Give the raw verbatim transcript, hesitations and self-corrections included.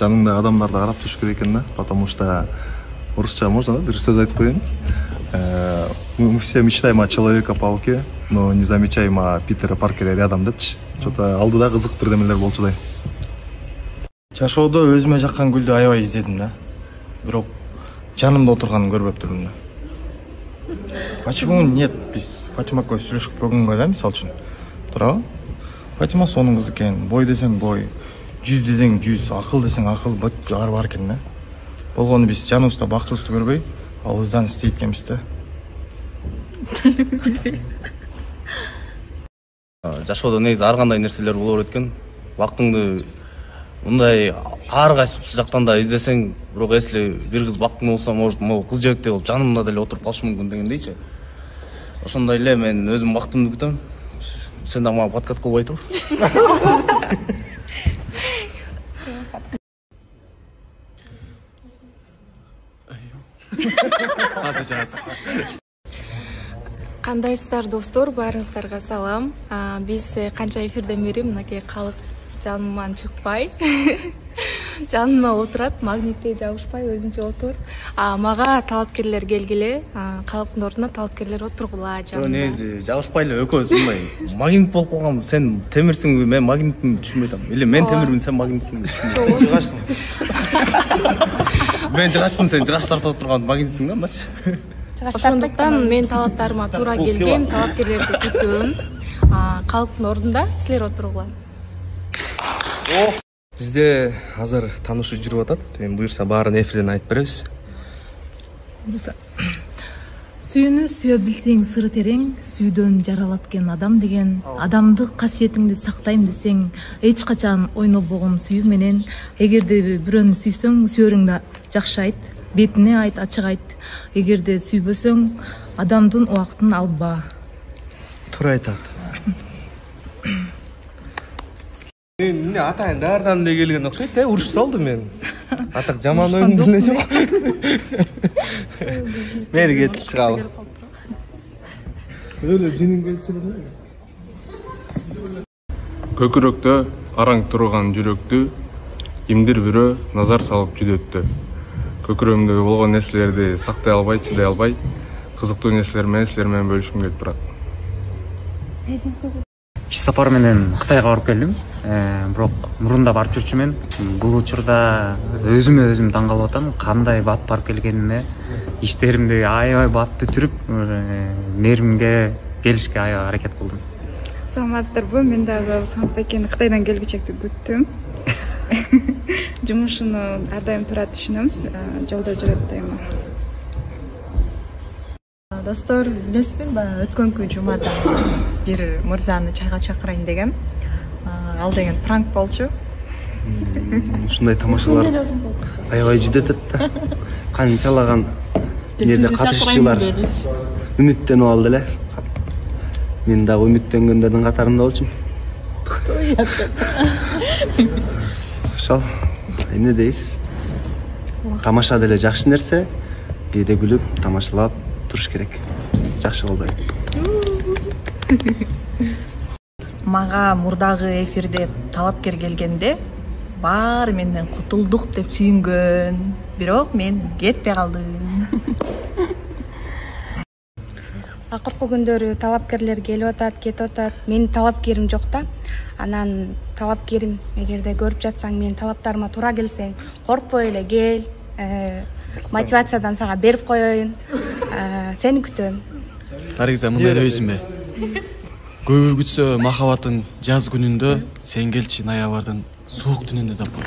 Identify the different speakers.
Speaker 1: жаныңдагы адамдарды карап туруш керек экен да, потому что орусча можно, да, бир сөз айтып коеюн. Мы все мечтаем о Человека-пауке, но не замечаем о Питера Паркере рядом депчи. Что-то алдыда кызык бирдемелер болчудай.
Speaker 2: Жашоодо өзүмө жаккан гүлдү аябай издедим да. Бирок жанымда отурганын көрбөптүрмүн да. Почему нет? Биз Фатима экөөбүз сүйлөшүп көргөнгө да, мисалы үчүн. Туурабы? Фатима сонун кыз экен, бой десең бой, жүз десең жүз, акыл десең акыл, баары бар экен да. Болгону биз жаныбызда бактыбызды көрбөй, алыбыздан издейт экенбиз да.
Speaker 3: Жашоодо негизи ар кандай нерселер боло берет экен. Бактыңды мындай ар кайсы жактан да издесең, бирок если бир кыз бактың болсо, может, могу кыз жебектей болуп жанымда деле отуруп калышы мүмкүн дегендейчи. Ошондой эле мен өзүм бактымды күтөм. Сен да мага подкат кылбай тур.
Speaker 4: Кандайсыздар достор, баарыңыздарга салам. Биз канча эфирден бери мынакей калык жаныман чыкпай, жанына отурат, магниттей жабышпай өзүнчө отур. Мага талапкерлер келгиле, калыктын ордуна талапкерлер отургула жанына.
Speaker 3: Негизи жабышпай эле экөөбүз мындай магнит болуп калган. Сен темирсиңби, мен магнитмин түшүнбөй атам. Или мен темирмин, сен магнитсиңби түшүнбөй. Жыгашсың. Мен жыгашпын, сен жыгаш тартып отурган магнитсиң да, мыначы.
Speaker 4: Ошондуктан мен талаптарыма туура келген талапкерлерди күтөм. Калыктын ордунда силер отургула.
Speaker 5: Бизде азыр таанышуу жүрүп атат. Эми буюрса баарын эфирден айтып беребиз.
Speaker 6: Сүйүүнү сүйө билсең сыры терең, сүйүүдөн жаралат экен адам деген. Адамдык касиетиңди сактайм десең, эч качан ойнобогон сүйүү менен. Эгерде бирөөнү сүйсөң, сүйөрүңдү жакшы айт, бетине айт, ачык айт. Эгерде сүйбөсөң, адамдын убактын алба.
Speaker 5: Туура айтат. Мен атайын дардан эле келген окшойт, э, уруш салды мен. Атак жаман ойун эле жок. Мени кетип чыгалы. Өлө жинин келип чыгды.
Speaker 7: Көкүрөктө араң турган жүрөктү кимдир бирөө назар салып жүдөттү. Көкүрөгүмдөгү болгон нерселерди сактай албай, чыдай албай, кызыктуу нерселер менен силер менен бөлүшкүм келип турат.
Speaker 8: Иш сапар менен Кытайга барып келдим. Бирок мурунда барып жүрчүмүн. Бул учурда өзүмө өзүм таң калып атам. Кандай бат барып келгениме, иштеримди аябай бат бүтүрүп, мээримге келишке аябай аракет кылдым.
Speaker 9: Саламатсыздарбы? Мен дагы Самат Байкени Кытайдан келгичекти күттүм. Жумушуну ар дайым туура түшүнөм. Жолдо жүрөт дайыма.
Speaker 10: Достор, билесизби, өткөнкү жумада бир мырзаны чайга чакырайын дегем. Ал деген пранк болчу.
Speaker 5: Ушундай тамашалар аябай жүдөтөт да. Канчалаган жерде катышчылар үмүттөнүп алды эле. Мен дагы үмүттөнгөндөрдүн катарында болчумун. Ошол, эмне дейсиз? Тамаша деле жакшы нерсе, кээде күлүп, тамашалап туруш керек. Жакшы болбойбу?
Speaker 10: Мага мурдагы эфирде талапкер келгенде баары менден кутулдук деп сүйүнгөн, бирок мен кетпей калдым.
Speaker 9: Акыркы күндөрү талапкерлер келип атат, кетип атат. Менин талапкерим жок да. Анан талапкерим, эгерде көрүп жатсаң, менин талаптарыма туура келсең, коркпой эле кел. Мотивациядан сага берип коеюн. Сени күтөм.
Speaker 11: Наргиза, мындай дебейсиңби? Көбү күтсө махаббатын жаз күнүндө, сен келчи ноябрдын суук түнүндө тапкан.